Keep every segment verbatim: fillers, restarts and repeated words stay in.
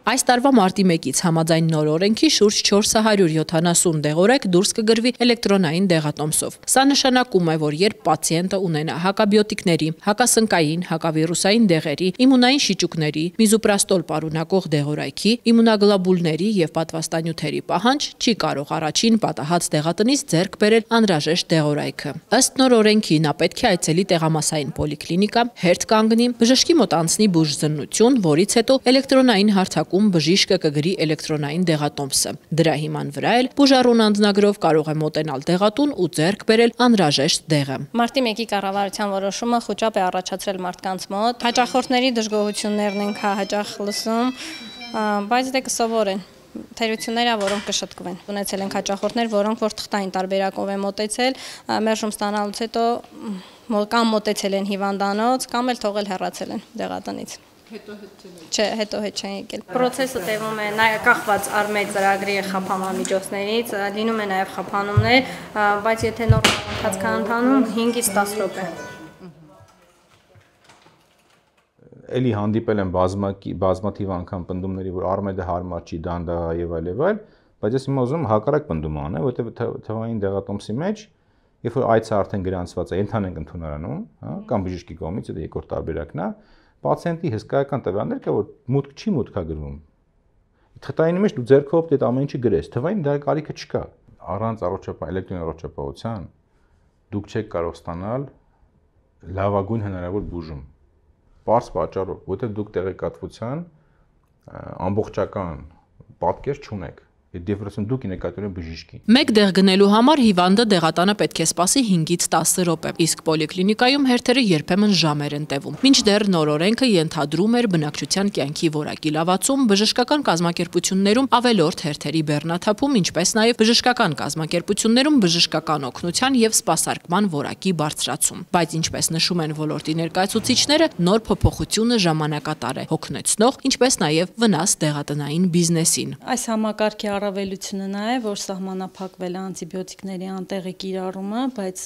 Այս տարվա մարտի մեկից համաձայն նոր օրենքի շուրջ չորս հարյուր յոթանասուն դեղորայք դուրս կգրվի էլեկտրոնային դեղատոմսով։ Սա նշանակում է, որ երբ պացիենտը ունենա հակաբիոտիկների, հակասնկային, հակավիրուսային դեղերի, իմունային շիճուկների, միզուպրաստոլ պարունակող դեղորայքի, իմունագլոբուլների եւ պատվաստանյութերի պահանջ, չի կարող առաջին պատահած դեղատնից ձեռք բերել անհրաժեշտ դեղորայքը։ Ըստ նոր օրենքի նա պետք է այցելի տեղամասային պոլիկլինիկա, հերթ կանգնի, բժշկի մոտ անցնի բուժզննություն, որից հետո էլեկտրոնային հարթակում բժիշկը կգրի էլեկտրոնային դեղատոմսը։ Դրա հիման վրա էլ բուժառուն անձնագրով կարող է մոտենալ դեղատուն ու ձեռք բերել անհրաժեշտ դեղը։ Մարտի մեկի կառավարության որոշումը խոճապ է առաջացրել մարդկանց մոտ։ Հաճախորդների դժգոհություններն ենք հաճախ լսում, բայց դե կսովորեն։ Թերությունները, որոնք կշտկվեն։ Ունեցել ենք հաճախորդներ, որոնք որ թղթային տարբերակով են մոտեցել, մերժում ստանալուց հետո կամ մոտեցել են հիվանդանոց, կամ էլ թողել հեռացել են դեղատնից։ Հետո հետ չեն եկել։ Չէ, հետո հետ չեն եկել։ Պրոցեսը տևում է նաև կախված առմեջ ծրագրի խափանամիջոցներից, լինում է նաև խափանումներ, բայց եթե նորմալ ընթացք ընթանում հինգից տասը րոպե։ Էլի հանդիպել են բազմաթիվ անգամ պնդումների, որ Արմեդը հարմար չի, դանդաղ է եւ այլ եւ այլ, բայց ես հիմա ուզում եմ հակառակ պնդում անեմ, որովհետեւ թվային դեղատոմսի մեջ, երբ որ այցը արդեն գրանցված է, ընդհանենք ընդունարանում, հա, կամ բժշկի կողմից, դա երկրորդ տարբերակն է, պացիենտի հսկայական տվյալներ կա, որ մուտք չի մուտքա գրվում։ Թղթայինի մեջ դու ձեռքով դե ամեն ինչը գրես, թվային դա կարիքը չկա։ Առանց առողջապահ էլեկտրոն առողջապահության դուք չեք կարող ստանալ լավագույն հնարավոր բուժում։ Պարզ պատճառով, որովհետև դուք տեղեկատվության ամբողջական պատկեր չունեք։ Դիվերսիոն դուք նկատորեն բժիշկի։ Մեկ դեղ գնելու համար հիվանդը դեղատանը պետք է սպասի հինգից տասը րոպե, իսկ պոլիկլինիկայում հերթերը երբեմն ժամեր են տևում։ Մինչդեռ նոր օրենքը ենթադրում էր բնակչության կյանքի որակի լավացում, բժշկական կազմակերպություններում ավելորդ հերթերի բեռնաթափում, ինչպես նաև բժշկական կազմակերպություններում բժշկական օգնության եւ սպասարկման որակի բարձրացում։ Բայց ինչպես նշում են ոլորտի ներկայացուցիչները, նոր փոփոխությունը ժամանակատար է, հոգնեցնող, ինչպես նաև վնաս դեղատնային բիզնեսին։ Այս համակարգի առավելությունը նա է, որ սահմանափակվել է անտիբիոտիկների անտեղի կիրառումը, բայց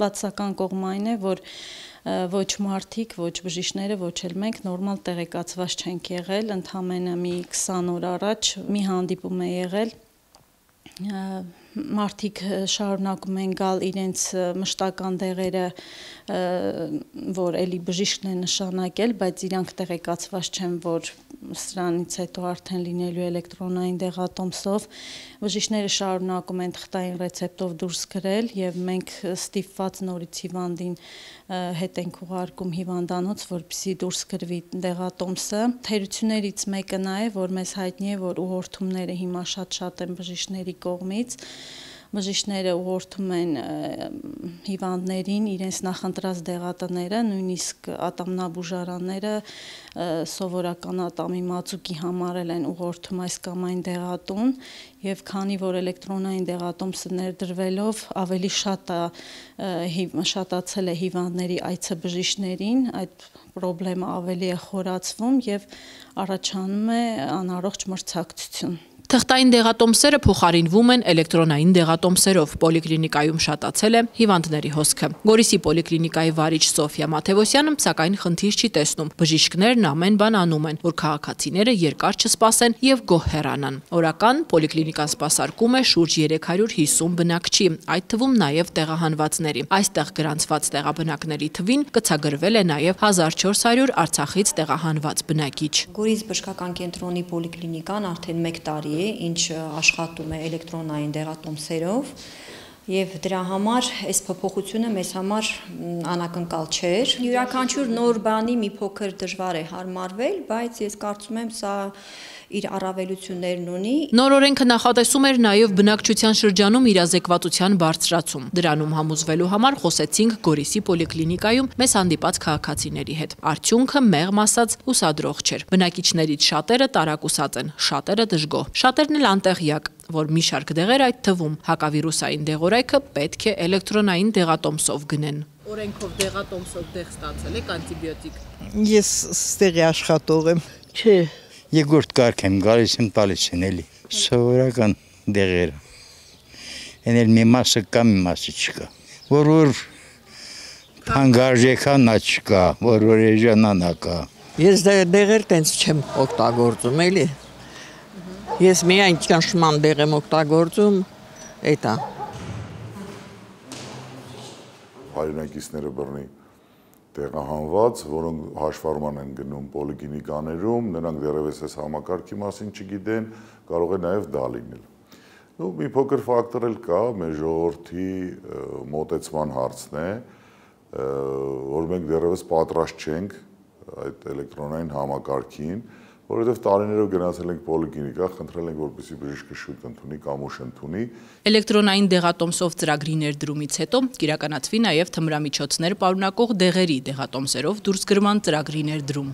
բացական կողմը այն է, որ ոչ մարդիկ, ոչ բժիշկները, ոչ էլ մենք նորմալ տեղեկացված չենք եղել, ընդամենը մի քսան օր առաջ մի հանդիպում է եղել, մարդիկ շարունակում են գալ իրենց մշտական դեղերը, որ էլի բժիշկն է նշանակել, բայց իրանք տեղեկացված չեն, որ սրանից հետո արդեն լինելու էլեկտրոնային դեղատոմսով, բժիշկները շարունակում են թղթային ռեցեպտով դուրս գրել եւ մենք ստիպված նորից հիվանդին հետ ենք ուղարկում հիվանդանոց, որպեսզի դուրս գրվի դեղատոմսը։ Թերություններից մեկը նա է, որ մեզ հայտնի է, որ ուղղորդումները հիմա շատ-շատ են բժիշկների կողմից։ Բժիշկները ուղղորդում են հիվանդներին իրենց նախընտրած դեղատները, նույնիսկ ատամնաբուժարանները սովորական ատամի մածուկի համարել են ուղղորդում այս կամ այն դեղատուն, եւ քանի որ էլեկտրոնային դեղատոմսը ներդրվելով ավելի շատ շատացել է հիվանդների այցը բժիշկներին, այդ խնդրը ավելի է խորացվում եւ առաջանում է անառողջ մրցակցություն։ Թղթային դեղատոմսերը փոխարինվում են էլեկտրոնային դեղատոմսերով, պոլիկլինիկայում շատացել է հիվանդների հոսքը։ Գորիսի պոլիկլինիկայի վարիչ Սոֆիա Մաթևոսյանը սակայն խնդիր չի տեսնում։ Բժիշկներն ամեն բան անում են, որ քաղաքացիները երկար չսպասեն եւ գոհ հեռանան։ Օրական պոլիկլինիկան սպասարկում է շուրջ երեք հարյուր հիսուն բնակչի, այդ թվում նաեւ տեղահանվածների։ Այստեղ գրանցված տեղաբնակների թվին կցագրվել է նաեւ հազար չորս հարյուր Արցախից տեղահանված բնակիչ։ Գորիս բժշկական կենտրոնի պոլիկլինիկան արդեն մեկ տարի ինչ աշխատում է էլեկտրոնային դեղատոմսերով եւ դրա համար այս փոփոխությունը մեզ համար անակնկալ չէր։ Յուրաքանչյուր նոր բանի մի փոքր դժվար է հարմարվել, բայց ես կարծում եմ սա իր առավելություններն ունի։ Նոր օրենքը նախատեսում էր նաև բնակչության շրջանում իրազեկվածության բարձրացում։ Դրանում համոզվելու համար խոսեցինք Գորիսի պոլիկլինիկայում մեզ հանդիպած քաղաքացիների հետ։ Արդյունքը մեղմ ասած ուսադրող չէր։ Բնակիչներից շատերը տարակուսած են, շատերը դժգոհ, շատերն էլ անտեղյակ, որ մի շարք դեղեր, այդ թվում հակավիրուսային դեղորայքը պետք է էլեկտրոնային դեղատոմսով գնեն։ Օրենքով դեղատոմսով դեղ ստացել եք անտիբիոտիկ։ Ես ստեղի աշխատող եմ։ Չէ, երկրորդ կարգ եմ գալիս եմ տալիս են էլի։ Սովորական դեղերը։ Են էլ մի մասը կա, մի մասը չկա։ Որ որ հանգարժեքան նա չկա, որ որ էժանանա կա։ Ես դեղեր տենց չեմ օգտագործում, էլի։ Ես միայն ճնշման դեղ եմ օգտագործում, էտա։ Հայրենակիցները բռնի տեղահանված, որոնք հաշվառման են գնում պոլիկլինիկաներում, նրանք դեռևս այս համակարգի մասին չգիտեն, կարող է նաև դա լինել։ Ну, մի փոքր ֆակտոր էլ կա, մեր ժողովրդի մոտեցման հարցն է, որ մենք դեռևս պատրաստ չենք այդ էլեկտրոնային համակարգին, որովհետև տարիներով գնացել ենք պոլիկլինիկա, խնդրել ենք, որպեսզի բժիշկը շուտ ընդունի կամ ուշ ընդունի։ Էլեկտրոնային դեղատոմսով ծրագրի ներդրումից հետո կիրականացվի նաև թմրամիջոցներ պարունակող դեղերի դեղատոմսերով դուրսգրման ծրագրի ներդրում։